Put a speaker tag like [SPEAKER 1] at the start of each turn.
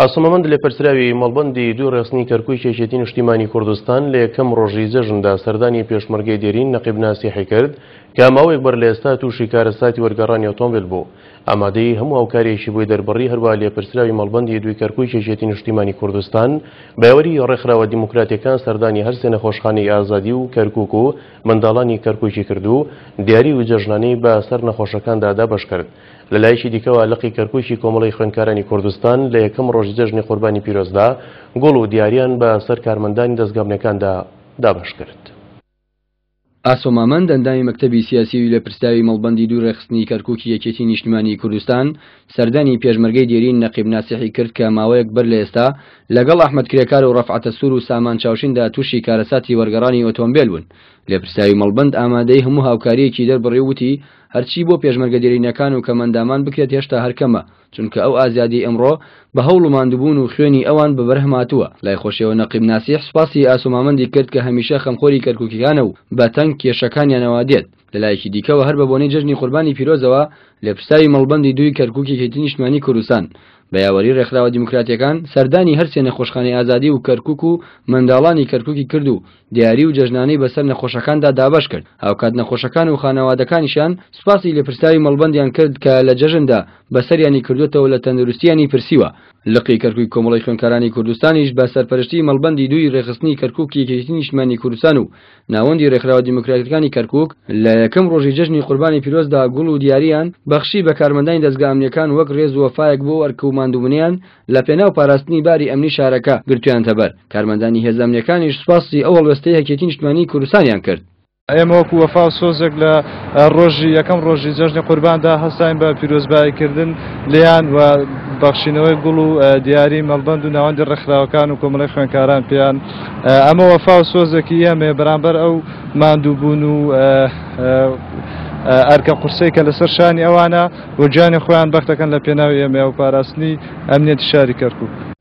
[SPEAKER 1] ئاسۆ مامەند لێپرسراوی مەڵبەندی دووی ڕێخستنی کەرکووکی یەکێتی نیشتیمانی کوردستان لە یەکەم ڕۆژی جەژندا سەردانی پێشمەرگەی دێرین نەقیب ناسیحی کرد کە ماوەیەک بەر لە ئێستا تووشی کارەساتی وەرگەڕانی ئۆتۆمبێل بوو ئامادەیی هەموو هاوکارییەکی بۆی دەربڕی هەروەها لێپرسراوی مەڵبەندی دووی کەرکووکی یەکێتی نیشتیمانی کوردستان بە یاوەری ڕێکخراوە دیموکراتیەکان سەردانی هەرسێ نەخۆشخانەی ئازادی و کەرکووک و منداڵانی کەرکووکی کرد و دیاری و جەژنانەی بە سەر نەخۆشەکاندا دابەش کرد. لە لایەکی دیکەوە لقی کەرکووکی کۆمەڵەی خوێندکارانی کوردستان لە یەکەم ڕۆژی جەژنی قوربانی پیرۆزدا گوڵ و دیاریان بە سەر کارمەندانی دەزگا ئەمنیەکاندا دابەش کرد.
[SPEAKER 2] ئاسۆ مامەند، ئەندامی مەکتەبی سیاسی و لێپرسراوی مەڵبەندی دووی ڕێکخستنی کەرکووکی یەکێتی نیشتمانیی کوردستان، سەردانی پێشمەرگەی دێرین نەقیب ناسیحی کرد کە ماوەیەک بەر لە ئێستا لەگەڵ ئەحمەد کرێکار و ڕەفعەتە سوور و سامان چاوشیندا تووشی کارەساتی وەرگەڕانی ئۆتۆمبێل بوون. لێپرسراوی مەڵبەند ئامادەیی هەموو هاوکارییەکی دەربڕی و وتی، هەرچی بۆ پێشمەرگە دێرینەکان و کەمئەندامان بکرێت هێشتا هەر کەمە، چونکە ئەو ئازادیەی ئەمڕۆ بە هەوڵ و ماندووبوون و خوێنی ئەوان بە بەرهەم هاتووە. لای خۆشیەوە نەقیب ناسیح سوپاسی ئاسۆ مامەندی کرد کە هەمیشە خەمخۆری کەرکوکیکانە و بە تەنگ کێشەکانیانەوە دێت. لە لایەکی دیکەوە هەر بە بۆنەی جەژنی قوربانی پیرۆزەوە لێپرسراوی مەڵبەندی دووی کەرکوک یەکێتی نیشتمانی کوردستان بە یاوەری رێکخراوە دیموکراتیەکان سەردانی هەرسێ نەخۆشخانەی ئازادی و کەرکوک و منداڵانی کەرکوکی کرد و دیاری و جەژنانەی بەسەر نەخۆشەکاندا دابەش کرد، هاوکات نەخۆشەکان و خانەوادەکانیشیان سوپاسی لێپرسراوی مەڵبەندیان کرد کە لە جەژندا بەسەریانی کردووەتەوە لە تەندروستیانی پرسیوە. لقی کەرکوک کۆمەڵەی خوێندکارانی کوردستانیش بە سەرپەرشتی مەڵبەندی دووی رێکخستنی کەرکوکی یەکێتی نیشتمانی کوردستان و ناوەندی رێکخراوە دیموکراتیکانی کەرکوک لە یەکەم رۆژی جەژنی قوربانی پیرۆزدا گوڵ و دیارییان بەخشی بە کارمەندانی دەزگا ئەمنییەکان وەک رێز و وەفایەک بۆ ئەرک و ماندووبونیان لە پێناو پاراستنی باری ئەمنی شارەکە گرتویانتەبەر، کارمەندانی هێزە ئەمنیەکانیش سوپاسی ئەو هەڵوێستەی یەکێتی نیشتمانیی کوردستانیان کرد.
[SPEAKER 3] ئێمە وەکو وەفا و سۆزێک لە ڕۆژی یەکەم ڕۆژی جەژنی قورباندا هەستاین بە پیرۆزبایی کردن لێیان و بەخشینەوەی گوڵ و دیاری مەڵبەند و ناوەندی ڕێکخراوەکان و کۆمەڵەی خوێندکاران پێیان ئەمە وەفا و سۆزێکی ئێمەیە بەرامبەر ئەو ماندووبوون و ئەرکە قورسەی کە لەسەر شانی ئەوانە و گیانی خۆیان بەخت دەکەن لە پێناوی ئێمەیا و پاراستنی ئەمنیەتی شاری کەرکوک.